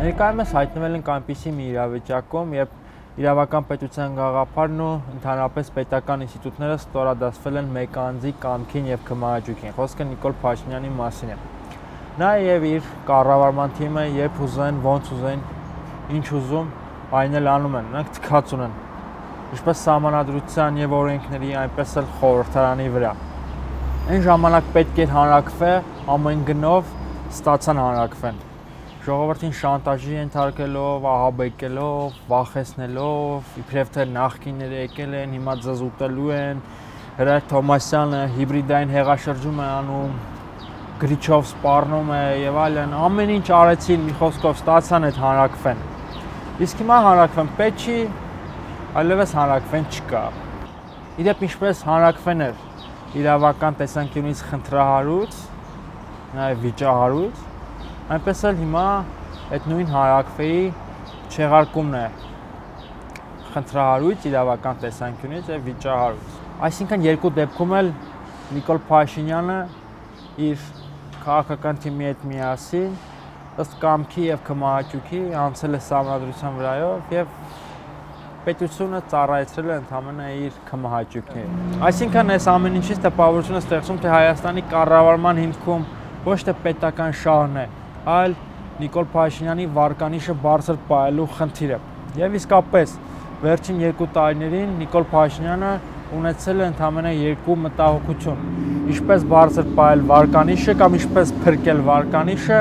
Ներկայումս հայտնվել ենք այնպիսի մի իրավիճակում, երբ իրավական պետության գաղափարն ու ընդհանրապես պետական ինստիտուտները ստորադասվել են մեկ անձի կամքին եւ քմահաճույքին։ Խոսքը Նիկոլ Փաշինյանի մասին է։ Նա եւ իր կառավարման թիմը երբ ուզեն, ոնց ուզեն, ինչ ուզում, այն էլ անում են, նրանք թքած ունեն։ Ինչպես սահմանադրության եւ օրենքների, այնպես էլ խորհրդարանի վրա։ Այն ժամանակ պետք էր հանրակրվել, ամեն գնով ստացան հանրակրվեն։ Ժողովրդին շանտաժի ենթարկելով, ահաբեկելով, վախեցնելով, իբրև թե նախկինները եկել են, հիմա զզուտելու են, Հրայր Թոմասյանը հիբրիդային հեղաշրջում է անում, գրիչով սպառնում է եւ այլն, ամեն ինչ արեցին, մի խոսքով ստացան այդ հանրակրվեն։ Իսկ հիմա հանրակրվեն պետք չի, այլևս հանրակրվեն չկա։ Իդեպ ինչպես հանրակրվեն էր իրավական տեսանկյունից խնդրահարույց, նաեւ վիճահարույց, այնպես էլ հիմա այդ նույն հանրակրվեի չեղարկումն է խնդրահարույց, իրավական տեսանկյունից եւ վիճահարույց։ Այսինքն երկու դեպքում էլ Նիկոլ Փաշինյանը իր քաղաքական թիմի հետ միասին ըստ կամքի եւ քմահաճույքի անցել է սահմանադրության վրայով եւ պետությունը ծառայեցրել է ընդհանրապես իր քմահաճույքին։ Այսինքն այս ամեն ինչից տպավորություն է ստեղծում, թե Հայաստանի կառավարման հիմքում ոչ թե պետական շահն է, այլ Նիկոլ Փաշինյանի վարկանիշը բարձր պահելու խնդիրը։ Եվ իսկապես վերջին 2 տարիներին Նիկոլ Փաշինյանը ունեցել է ընդհանրապես երկու մտահոգություն. ինչպես բարձր պահել վարկանիշը կամ ինչպես փրկել վարկանիշը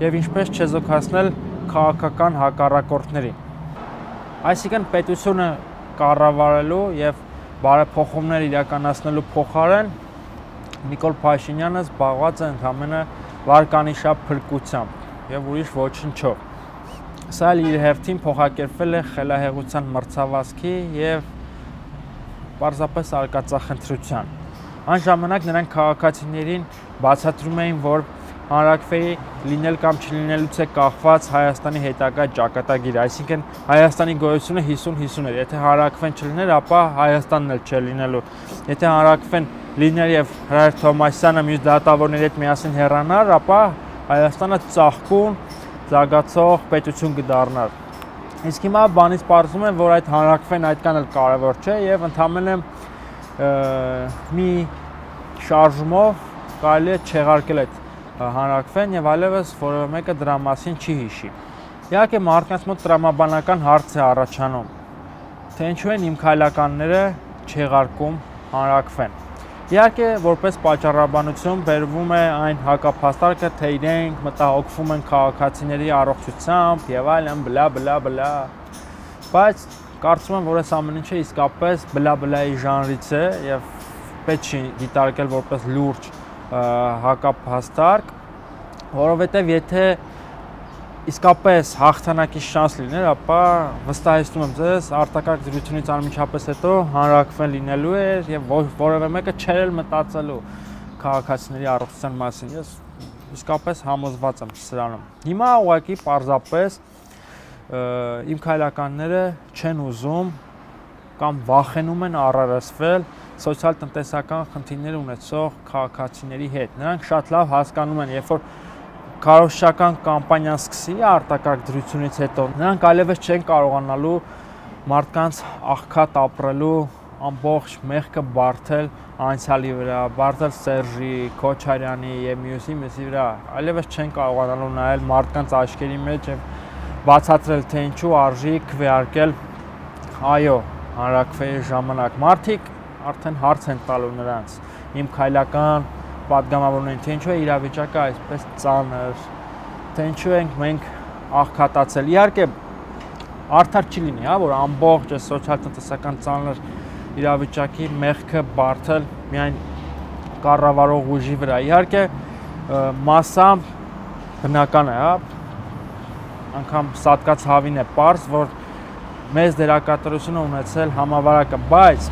եւ ինչպես չեզոքացնել քաղաքական հակառակորդներին։ Այսինքն պետությունը կառավարելու եւ բարեփոխումներ իրականացնելու փոխարեն Նիկոլ Փաշինյանը զբաղված է ընդհանրապես վարկանիշափրկությամբ եւ ուրիշ ոչնչով։ Սա էլ իր հերթին փոխակերպվել է խելահեղության մրցավազքի եւ պարզապես արկածախնդրության։ Այն ժամանակ նրանք քաղաքացիներին բացատրում էին, որ հանրակրվեի լինել կամ չլինելուց է կախված Հայաստանի հետագա ճակատագիրը, այսինքն Հայաստանի գոյությունը 50-50 էր։ Եթե հանրակրվեն չլիներ, ապա Հայաստանն էլ չէր լինելու։ Եթե հանրակրվեն լիներ եւ Հրայր Թոմասյանը մյուս դատավորների հետ միասին հեռանար, ապա Հայաստանը ծաղկուն, զարգացող պետություն կդառնար։ Իսկ հիմա բանից պարզվում է, որ այդ հանրակրվեն այդքան էլ կարևոր չէ եւ ընդհանրապես մի շարժումով կարելի է չեղարկել այդ հանրակրվեն եւ այլևս որևէ մեկը դրա մասին չի հիշի։ Իհարկե մարդկանց մոտ տրամաբանական հարց է առաջանում, թե ինչու են իմ քայլականները չեղարկում հանրակրվեն։ Իհարկե որպես պատճառաբանություն բերվում է այն հակափաստարկը, թե իրենք մտահոգվում են քաղաքացիների առողջությամբ եւ այլն բլա։ Բայց կարծում եմ, որ այս ամեն ինչը իսկապես բլա-բլայի ժանրից է եւ պետք չի դիտարկել որպես լուրջ հակափաստարկ, որովհետեւ եթե իսկապես հաղթանակի շանս լիներ, ապա վստահեցնում եմ ձեզ, արտակարգ դրությունից անմիջապես հետո հանրակրվեն լինելու էր եւ որևէ մեկը չէր էլ մտածելու քաղաքացիների առողջության մասին։ Ես իսկապես համոզված եմ սրանում։ Հիմա ուղղակի պարզապես իմ քայլականները չեն ուզում կամ վախենում են առերեսվել սոցիալ-տնտեսական խնդիրներ ունեցող քաղաքացիների հետ։ Նրանք շատ լավ հասկանում են, երբ որ քարոզչական կամպանիան սկսի արտակարգ դրությունից հետո, նրանք այլևս չեն կարողանալու մարդկանց աղքատ ապրելու ամբողջ մեղքը բարթել անցյալի վրա, բարթել Սերժի, Քոչարյանի եւ մյուսի վրա, այլևս չեն կարողանալու նայել մարդկանց աչքերի մեջ եւ բացատրել, թե ինչու արժի քվեարկել այո հանրակրվեի ժամանակ։ Մարդիկ արդեն հարց են տալու նրանց, իմ քայլական պատգամավորներին, թե ինչու է իրավիճակը այսպես ծանր, թե ինչու ենք մենք աղքատացել։ Իհարկե արդար չի լինի, հա, որ ամբողջ սոցիալ-տնտեսական ծանր իրավիճակի մեղքը բարթել միայն կառավարող ուժի վրա։ Իհարկե մասամբ բնական է, հա, անգամ սատկած հավին է պարզ, որ մեծ դերակատարություն ունեցել համավարակը, բայց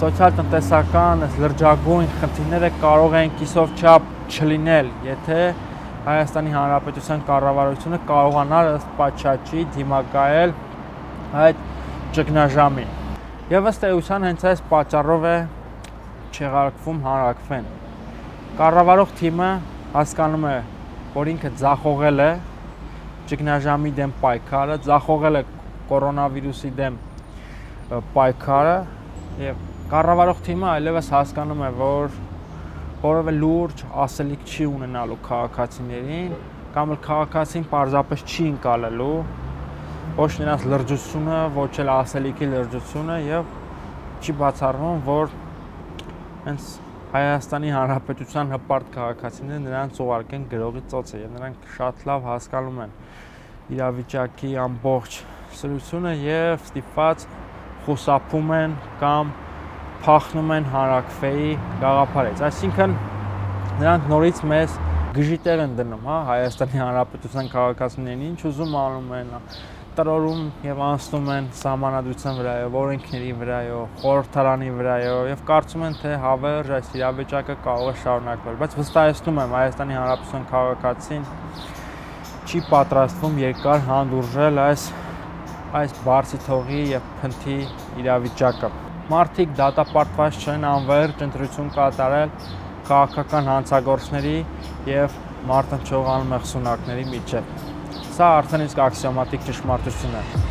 սոցիալ-տնտեսական լրջագույն խնդիրները կարող են կիսով չափ չլինել, եթե Հայաստանի Հանրապետության կառավարությունը կարողանար ըստ պատշաճի դիմակայել այդ ճգնաժամին։ Եվ ըստ էության հենց այս պատճառով է չեղարկվում հանրակրվեն։ Կառավարող թիմը հասկանում է, որ ինքը ձախողել է ճգնաժամի դեմ պայքարը, ձախողել է կորոնավիրուսի դեմ պայքարը եւ կառավարող թիմը այլևս հասկանում է, որ որևէ լուրջ ասելիք չի ունենալու քաղաքացիներին, կամ էլ քաղաքացին պարզապես չի ընկալելու ոչ նրանց լրջությունը, ոչ էլ ասելիքի լրջությունը եւ չի բացառվում, որ հենց Հայաստանի Հանրապետության հպարտ քաղաքացիները նրանց ուղարկեն գրողի ծոցը եւ նրանք շատ լավ հասկանում են իրավիճակի ամբողջ սրությունը եւ ստիպված խուսափում են կամ փախնում են հանրակրվեի գաղափարից։ Այսինքն նրանք նորից մեզ գժիտեր են դնում, հա, Հայաստանի Հանրապետության քաղաքացիներին, ինչ ուզում անում են, տրորում եւ անցնում են սահմանադրության վրայով, օրենքների վրայով, խորհրդարանի վրայով եւ կարծում են, թե հավերժ այս իրավիճակը կարող է շարունակվել, բայց վստահեցնում եմ Հայաստանի Հանրապետության քաղաքացին չի պատրաստվում երկար հանդուրժել այս բարձի թողի եւ փնթի իրավիճակը։ Մարդիկ դատապարտված չեն անվերջ ընտրություն կատարել քաղաքական հանցագործների եւ մարտնչող անմեղսունակների միջեւ։ Սա արդեն իսկ աքսիոմատիկ ճշմարտություն է։